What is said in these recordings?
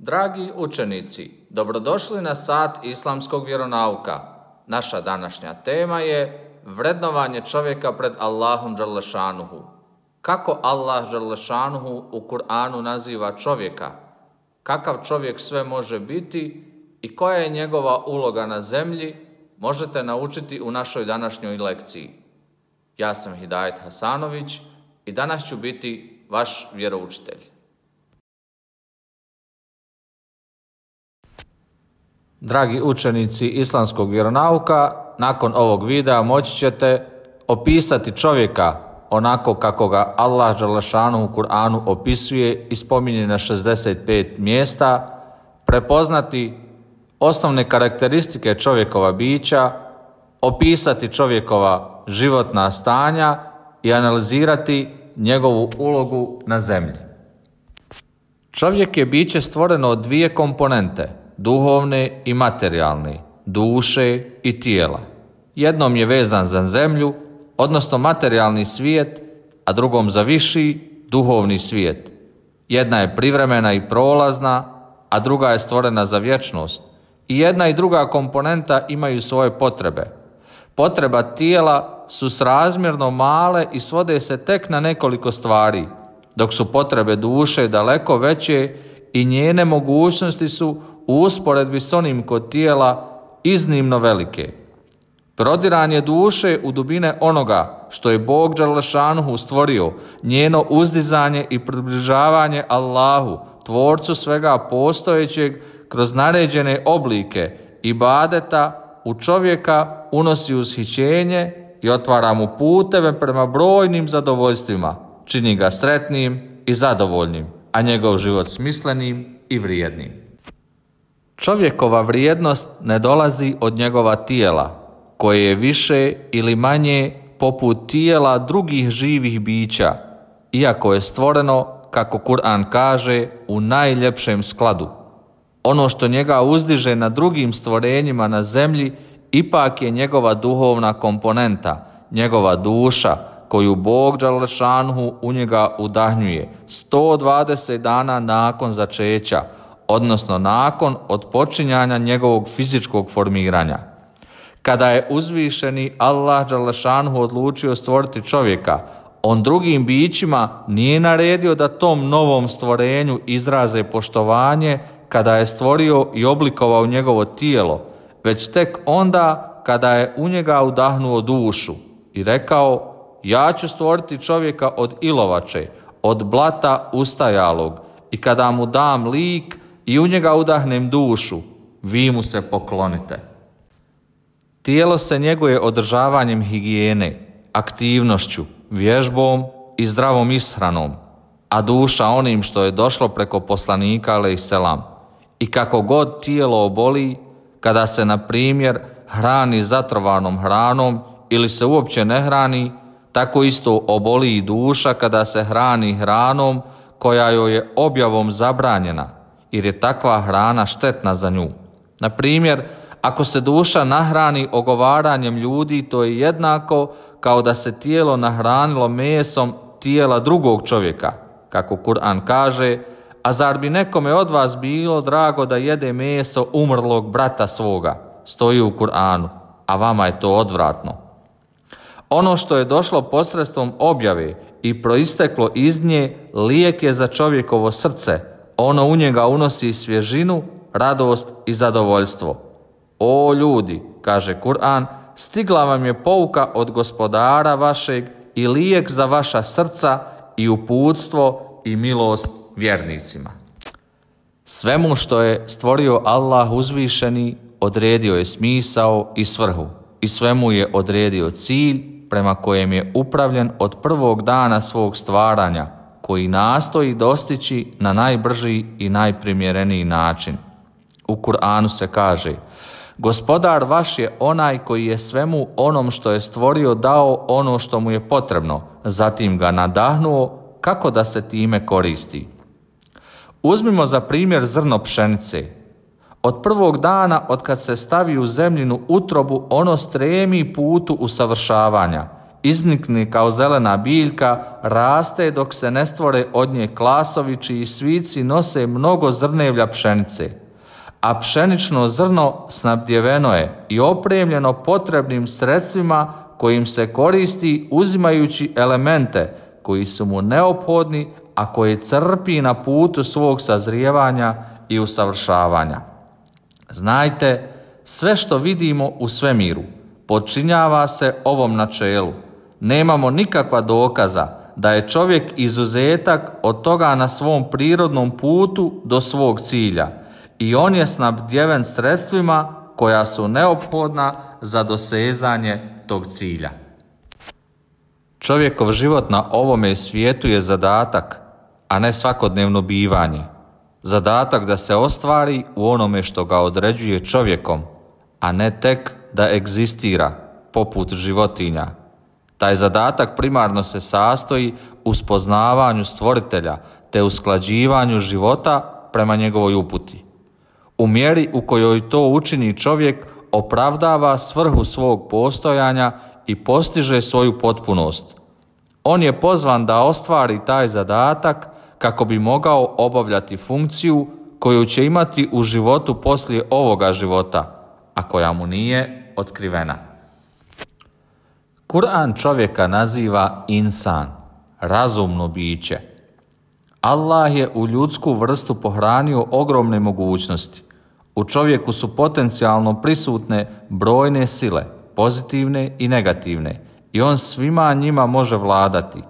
Dragi učenici, dobrodošli na sat islamskog vjeronauka. Naša današnja tema je vrednovanje čovjeka pred Allahom dželle šanuhu. Kako Allah dželle šanuhu u Kur'anu naziva čovjeka? Kakav čovjek sve može biti i koja je njegova uloga na zemlji, možete naučiti u našoj današnjoj lekciji. Ja sam Hidajet Hasanović i danas ću biti vaš vjeroučitelj. Dragi učenici islamskog vjeronauka, nakon ovog videa moći ćete opisati čovjeka onako kako ga Allah dželle šanuhu u Kur'anu opisuje i spominje na 65 mjesta, prepoznati osnovne karakteristike čovjekova bića, opisati čovjekova životna stanja i analizirati njegovu ulogu na zemlji. Čovjek je biće stvoreno od dvije komponente, duhovne i materijalne, duše i tijela. Jednom je vezan za zemlju, odnosno materijalni svijet, a drugom za viši, duhovni svijet. Jedna je privremena i prolazna, a druga je stvorena za vječnost. I jedna i druga komponenta imaju svoje potrebe. Potreba tijela su srazmjerno male i svode se tek na nekoliko stvari, dok su potrebe duše daleko veće i njene mogućnosti su u usporedbi s onim kod tijela iznimno velike. Prodiranje duše u dubine onoga što je Bog dželle šanuhu stvorio, njeno uzdizanje i približavanje Allahu, tvorcu svega postojećeg, kroz naređene oblike ibadeta u čovjeka unosi ushićenje i otvara mu puteve prema brojnim zadovoljstvima, čini ga sretnim i zadovoljnim, a njegov život smislenim i vrijednim. Čovjekova vrijednost ne dolazi od njegova tijela, koje je više ili manje poput tijela drugih živih bića, iako je stvoreno, kako Kur'an kaže, u najljepšem skladu. Ono što njega uzdiže na drugim stvorenjima na zemlji ipak je njegova duhovna komponenta, njegova duša, koju Bog dželle šanuhu u njega udahnjuje 120 dana nakon začeća, odnosno nakon otpočinjanja njegovog fizičkog formiranja. Kada je uzvišeni Allah dželle šanuhu odlučio stvoriti čovjeka, on drugim bićima nije naredio da tom novom stvorenju izraze poštovanje kada je stvorio i oblikovao njegovo tijelo, već tek onda kada je u njega udahnuo dušu i rekao: ja ću stvoriti čovjeka od ilovače, od blata ustajalog, i kada mu dam lik i u njega udahnem dušu, vi mu se poklonite. Tijelo se njeguje održavanjem higijene, aktivnošću, vježbom i zdravom ishranom, a duša onim što je došlo preko poslanika alejselam. I kako god tijelo oboli, kada se na primjer hrani zatrovanom hranom ili se uopće ne hrani, tako isto oboli i duša kada se hrani hranom koja joj je objavom zabranjena, jer je takva hrana štetna za nju. Na primjer, ako se duša nahrani ogovaranjem ljudi, to je jednako kao da se tijelo nahranilo mesom tijela drugog čovjeka, kako Kur'an kaže: a zar bi nekome od vas bilo drago da jede meso umrlog brata svoga, stoji u Kur'anu, a vama je to odvratno. Ono što je došlo posredstvom objave i proisteklo iz nje lijek je za čovjekovo srce, ono u njega unosi svježinu, radost i zadovoljstvo. O ljudi, kaže Kur'an, stigla vam je pouka od gospodara vašeg i lijek za vaša srca i uputstvo i milost vjernicima. Svemu što je stvorio Allah uzvišeni odredio je smisao i svrhu i svemu je odredio cilj prema kojem je upravljen od prvog dana svog stvaranja, koji nastoji dostići na najbrži i najprimjereniji način. U Kur'anu se kaže: gospodar vaš je onaj koji je svemu onom što je stvorio dao ono što mu je potrebno, zatim ga nadahnuo kako da se time koristi. Uzmimo za primjer zrno pšenice. Od prvog dana od kad se stavi u zemljinu utrobu, ono stremi putu usavršavanja iznikne kao zelena biljka, raste dok se ne stvore od nje klasovi čiji svici nose mnogo zrnevlja pšenice. A pšenično zrno snabdjeveno je i opremljeno potrebnim sredstvima kojim se koristi uzimajući elemente koji su mu neophodni, a koje crpi na putu svog sazrijevanja i usavršavanja. Znajte, sve što vidimo u svemiru podčinjava se ovom načelu. Nemamo nikakva dokaza da je čovjek izuzetak od toga na svom prirodnom putu do svog cilja i on je snabdjeven sredstvima koja su neophodna za dosezanje tog cilja. Čovjekov život na ovome svijetu je zadatak, a ne svakodnevno bivanje. Zadatak da se ostvari u onome što ga određuje čovjekom, a ne tek da egzistira poput životinja. Taj zadatak primarno se sastoji u spoznavanju stvoritelja te usklađivanju života prema njegovoj uputi. U mjeri u kojoj to učini čovjek opravdava svrhu svog postojanja i postiže svoju potpunost. On je pozvan da ostvari taj zadatak kako bi mogao obavljati funkciju koju će imati u životu poslije ovoga života, a koja mu nije otkrivena. Kur'an čovjeka naziva insan, razumno biće. Allah je u ljudsku vrstu pohranio ogromne mogućnosti. U čovjeku su potencijalno prisutne brojne sile, pozitivne i negativne, i on svima njima može vladati.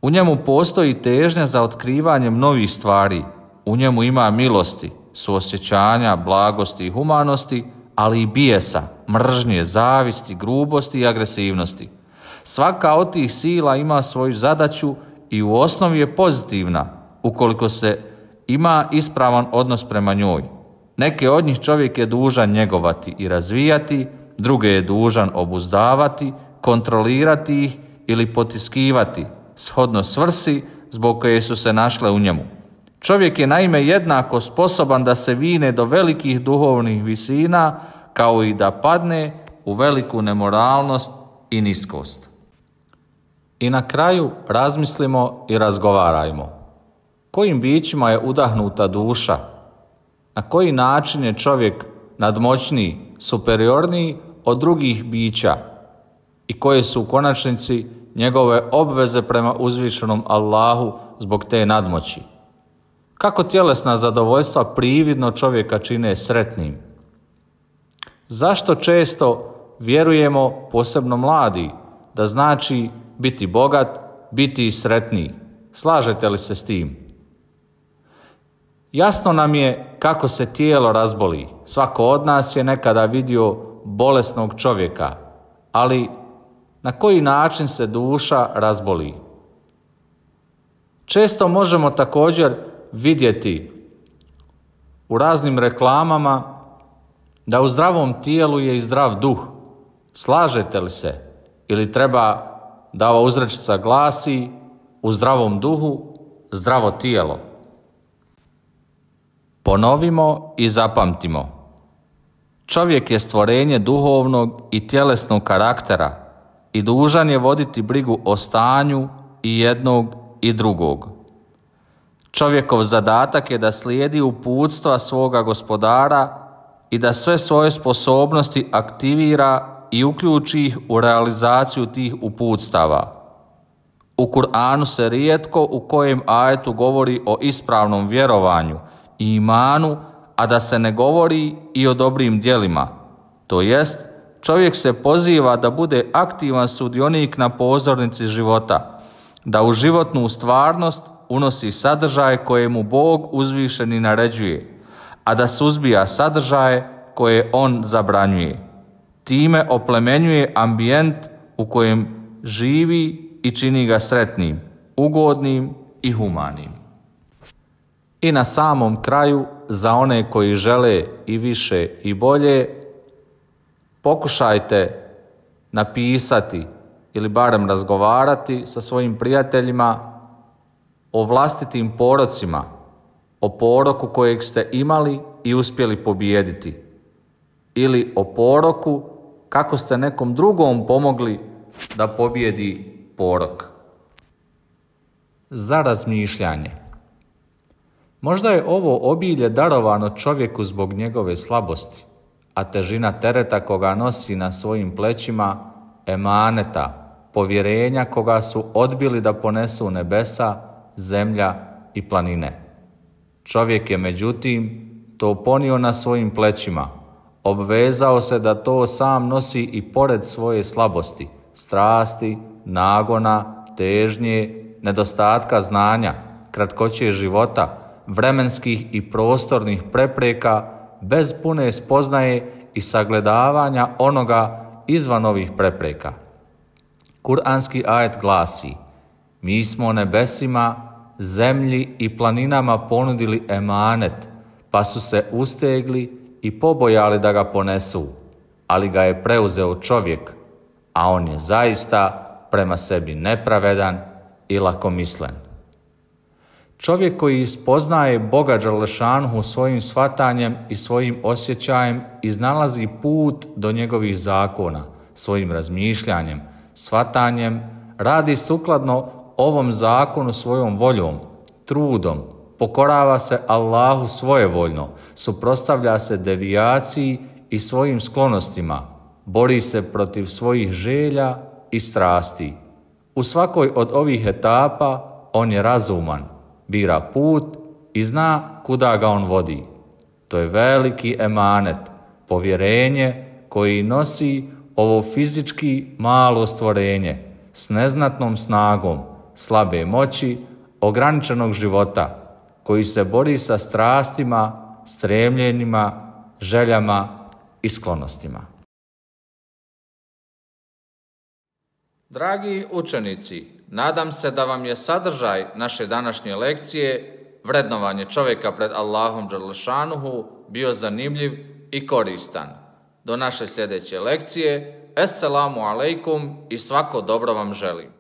U njemu postoji težnja za otkrivanjem novih stvari. U njemu ima milosti, suosjećanja, blagosti i humanosti, ali i bijesa, mržnje, zavisti, grubosti i agresivnosti. Svaka od tih sila ima svoju zadaću i u osnovi je pozitivna, ukoliko se ima ispravan odnos prema njoj. Neke od njih čovjek je dužan njegovati i razvijati, druge je dužan obuzdavati, kontrolirati ih ili potiskivati, shodno svrsi zbog koje su se našle u njemu. Čovjek je naime jednako sposoban da se vine do velikih duhovnih visina, kao i da padne u veliku nemoralnost i niskost. I na kraju razmislimo i razgovarajmo. Kojim bićima je udahnuta duša? Na koji način je čovjek nadmoćniji, superiorniji od drugih bića? I koje su u konačnici njegove obveze prema uzvišenom Allahu zbog te nadmoći? Kako tjelesna zadovoljstva prividno čovjeka čine sretnim? Zašto često vjerujemo, posebno mladi, da znači biti bogat, biti i sretniji? Slažete li se s tim? Jasno nam je kako se tijelo razboli. Svako od nas je nekada vidio bolesnog čovjeka, ali na koji način se duša razboli? Često možemo također vidjeti u raznim reklamama da u zdravom tijelu je i zdrav duh. Slažete li se? Ili treba da ova uzrečica glasi: u zdravom duhu, zdravo tijelo. Ponovimo i zapamtimo. Čovjek je stvorenje duhovnog i tjelesnog karaktera i dužan je voditi brigu o stanju i jednog i drugog. Čovjekov zadatak je da slijedi uputstva svoga gospodara i da sve svoje sposobnosti aktivira i uključi ih u realizaciju tih uputstava. U Kur'anu se rijetko u kojem ajetu govori o ispravnom vjerovanju i imanu, a da se ne govori i o dobrim djelima. To jest, čovjek se poziva da bude aktivan sudionik na pozornici života, da u životnu stvarnost unosi sadržaje koje mu Bog uzvišeni naređuje, a da suzbija sadržaje koje on zabranjuje. Time oplemenjuje ambijent u kojem živi i čini ga sretnim, ugodnim i humanim. I na samom kraju, za one koji žele i više i bolje, pokušajte napisati ili barem razgovarati sa svojim prijateljima o vlastitim porocima, o poroku kojeg ste imali i uspjeli pobijediti, ili o poroku kako ste nekom drugom pomogli da pobjedi porok. Za razmišljanje. Možda je ovo obilje darovano čovjeku zbog njegove slabosti, a težina tereta koga nosi na svojim plećima, emaneta, povjerenja koga su odbili da ponesu nebesa, zemlja i planine. Čovjek je međutim to ponio na svojim plećima, obvezao se da to sam nosi i pored svoje slabosti, strasti, nagona, težnje, nedostatka znanja, kratkoće života, vremenskih i prostornih prepreka, bez pune spoznaje i sagledavanja onoga izvan ovih prepreka. Kur'anski ajet glasi: mi smo nebesima, zemlji i planinama ponudili emanet, pa su se ustegli i pobojali da ga ponesu, ali ga je preuzeo čovjek, a on je zaista prema sebi nepravedan i lakomislen. Čovjek koji spoznaje Boga Đalešanuhu svojim shvatanjem i svojim osjećajem iznalazi put do njegovih zakona, svojim razmišljanjem, shvatanjem, radi sukladno ovom zakonu svojom voljom, trudom, pokorava se Allahu svojevoljno, suprotstavlja se devijaciji i svojim sklonostima, bori se protiv svojih želja i strasti. U svakoj od ovih etapa on je razuman, bira put i zna kuda ga on vodi. To je veliki emanet, povjerenje koji nosi ovo fizički malo stvorenje s neznatnom snagom, slabe moći, ograničenog života, koji se bori sa strastima, stremljenjima, željama i sklonostima. Dragi učenici, nadam se da vam je sadržaj naše današnje lekcije, vrednovanje čovjeka pred Allahom Đalešanuhu, bio zanimljiv i koristan. Do naše sljedeće lekcije, Esselamu alejkum i svako dobro vam želim.